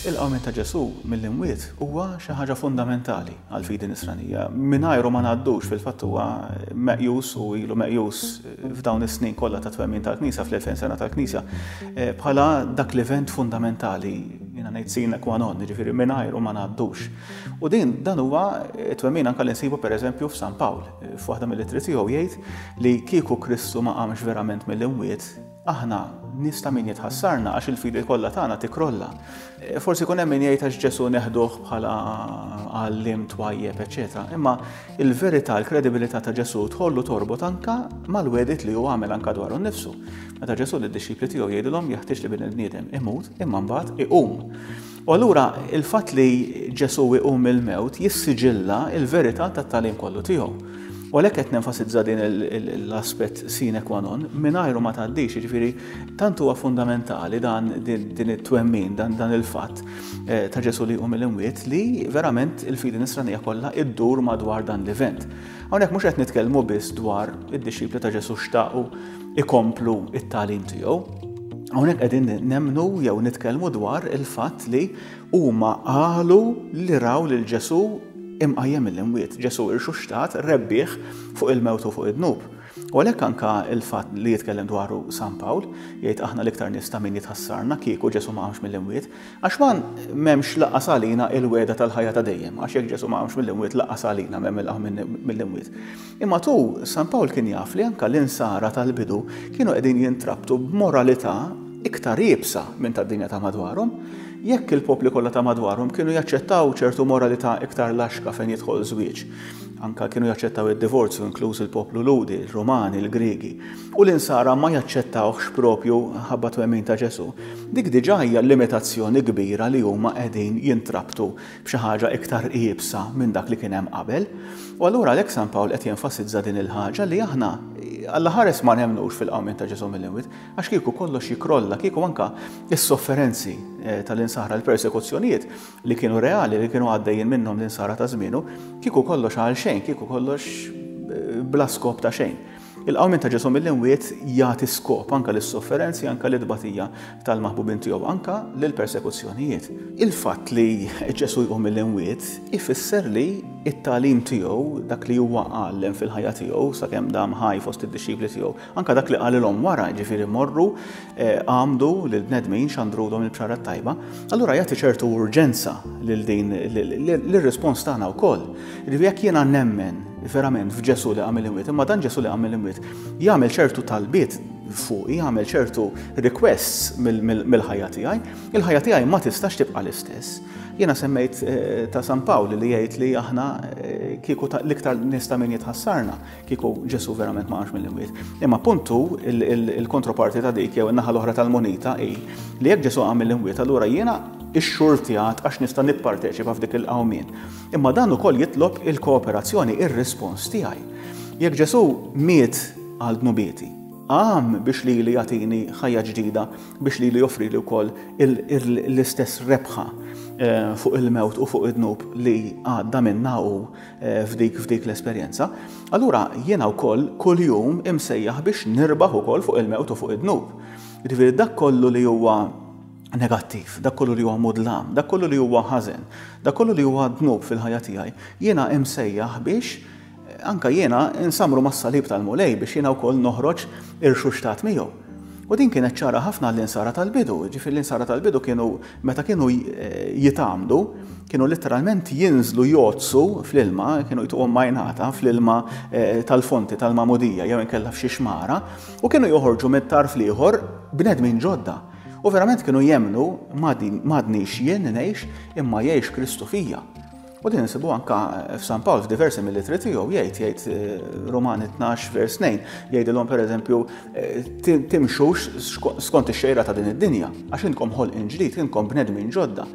Il-qawmien ta' Ġesù mill-imwiet huwa xi ħaġa fundamentali għall-fidi Nisranija. Mingħajru ma ngħaddux, fil-fatt huwa meqjus u ilu meqjus f'dawn is-snin kollha ta' twemmin tal-Knisja, fl-2000 sena tal-Knisja, eh, bħala dak l-event fundamentali, jiena ngħid sine qua non, jiġifieri mingħajru ma ngħaddux. U din dan huwa twemmin anke li nsibu pereżempju f'San Pawl, f'waħda mill-ittri tiegħu jgħid li kieku Kristu ma qamx verament mill-imwiet, Aħna nies ta' min jitħassarna għax il-fidi kollha tagħna tikkrolla. Forsi jkun hemm min jgħid għax Ġesù neħduh bħala għalliem twajjeb, eċċetera. Imma il-verità, il-kredibilità ta' Ġesù tħoll u torbot anka mal-wegħdiet li hu għamel anka dwaru nnifsu. Meta Ġesù lid-dixxipli tiegħu jgħidilhom jeħtieġ li bin il-bniedem imut imma mbagħad iqum. U allura il-fatt li Ġesù iqum mill-mewt jissiġilla l-verità tat-tagħlim kollu tiegħu. U għalhekk qed nenfasizza din l-aspett sine qua non, mingħajru ma tgħaddix, jiġifieri tant huwa fundamentali dan din it-twemmin, dan dan il-fatt eh, ta' Ġesù li jqum mill-imwiet li verament il-fidi nisranija kollha iddur madwar dan l-event. Hawnhekk mhux qed nitkellmu biss dwar id-dixxipli ta' Ġesù xtaqu ikomplu it-tagħlim tiegħu. Hawnhekk qegħdin nemmnu jew nitkellmu dwar il-fatt li huma qalu li raw lil Ġesù imqajjem mill-imwiet, Ġesù irxuxtat rebbieħ fuq il-mewt u fuq id-dnub. U għalhekk anka il-fatt li jitkellem dwaru San Pawl, jgħid aħna l-iktar nies ta' min jitħassarna kieku Ġesù ma qamx mill-imwiet, għax ma m'hemmx lanqas għalina il-wegħda tal-ħajja ta' dejjem, għax jekk Ġesù ma qamx mill-imwiet lanqas għalina m'hemm il-qawmien mill-imwiet. Imma tu, San Pawl kien jaf li anke l-Insara tal-bidu kienu qegħdin jintrabtu b'moralità iktar iebsa minn tad-dinja ta' madwarhom. Jekk il-popli kollha ta' madwarhom kienu jaċċettaw ċertu moralità iktar laxka fejn jidħol żwieġ, anke kienu jaċċettaw id-divorzju inkluż il-poplu Lhudi, il-Rumani, il-Griegi, u l-Insara ma jaċċettawhx propju ħabba twemmin ta' Ġesù, dik diġà hija limitazzjoni kbira li huma qegħdin jintrabtu b'xi ħaġa iktar iebsa minn dak li kien hemm qabel. U allura għalhekk San Pawl qed jenfasizza din il-ħaġa li aħna Alla ħares ma nemmnux fil-qawmien ta' Ġesù mill-imwiet, għax kieku kollox jikrolla, kieku anka s-sofferenzi eh, tal-insara, l-persekuzzjonijiet li kienu reali, li kienu għaddejjin minnhom l-insara ta' żmienu, kieku kollox għal xejn, kieku kollox eh, bla skop ta' xejn. Il-qawmien ta' Ġesù mill-imwiet jagħti skop anke lis-sofferenzi, anke lit-tbatija tal-maħbubin tiegħu, anke lill-persekuzzjonijiet. Il-fatt li Ġesù jqum mill-imwiet ifisser li t-tagħlim tiegħu, dak li huwa għallem fil-ħajja tiegħu sakemm dam ħaj fost id-dixxipli tiegħu, anke dak li qalilhom wara, jiġifieri morru eh, għamdu lill-bnedmin xandrulhom il-bxara t-tajba, allura jagħti ċertu urġenza lil din lir-rispons tagħna wkoll. Jiġifieri jekk jiena nemmen verament f'Ġesù li qam mill-imwiet, imma dan Ġesù li qam mill-imwiet jagħmel ċertu talbiet fuqi, jagħmel ċertu requests mill-ħajja tiegħi, il-ħajja tiegħi ma tistax tibqa' l-istess. Jiena semmejt eh, ta' San Pawl li jgħid li aħna eh, kieku l-iktar nies ta' min jitħassarna kieku Ġesù verament ma qamx mill-imwiet. Imma puntu il-kontroparti ta' dik jew in-naħa l-oħra tal-munita hi li jekk Ġesù qam mill-imwiet allura jiena ix-xurtjat għax nista' nipparteċipa f'dik il-qawmien. Imma dan ukoll jitlob il-kooperazzjoni, ir-rispons tiegħi. Jekk Ġesù miet għal dnubieti, qam biex lili jagħtini ħajja ġdida, biex lili joffrili wkoll l-istess rebħa eh, fuq il-mewt u fuq id-dnub li għadda minna hu eh, f'dik f'dik l-esperjenza, allura jiena wkoll kuljum imsejjaħ biex nirbaħ ukoll fuq il-mewt u fuq id-dnub. Jiġifieri dak kollu li huwa negattiv, dak kollu li huwa mudlam, dak kollu li huwa ħażen, dak kollu li huwa dnub fil-ħajja tiegħi, jiena imsejjaħ biex eh, anka jiena nsamru mas-salib tal-Mulej biex jiena wkoll noħroġ irxuxtat miegħu. U din kienet ċara ħafna l-insara tal-bidu, ġifieri l-insara tal-bidu kienu meta kienu eh, jitgħammdu, kienu letteralment jinżlu jgħoddsu fl-ilma, kienu jtuhom majnata fl-ilma eh, tal-fonti tal-magħmudija jew inkella f'xi xmara, u kienu joħorġu mit-tarf l-ieħor bnedmin ġodda. U verament kienu jemmnu m'għadnix jien ngħix imma jgħix Kristu fija. U din insibu anka f'San Pawl f'diversi mill-ittri tiegħu jgħid jgħid eh, Romani 12 vers 2 jgħidilhom pereżempju eh, timxux skont ix-xejra ta' din id-dinja għax intkom ħolqien ġdid, intkom bnedmin ġodda.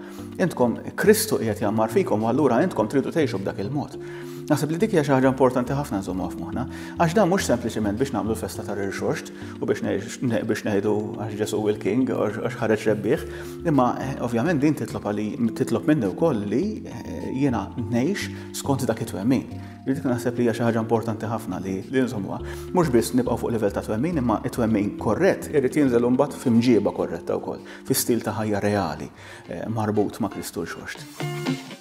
Intkom Kristu qiegħed jgħammar fikom u allura intkom tridu tgħixu b'dak il-mod. Naħseb li dik hija xi ħaġa importanti ħafna nżommuha f'moħħna, għax dan mhux sempliċement biex nagħmlu l-festa tar-irxoxt u biex biex ngħidu għax Ġesù il-King għax ħareġ rebbieħ, imma eh, ovvjament din titlob għali titlob minni wkoll li eh, Jiena ngħix skont dak it-twemmin. Li dik naħseb li hija xi ħaġa importanti ħafna li nżommuha. Mhux biss nibqgħu fuq livell ta' twemmin, imma it-twemmin korrett irid jinżel imbagħad f'imġieba korretta wkoll, fi stil ta' ħajja reali marbut ma' Kristu Rxoxt.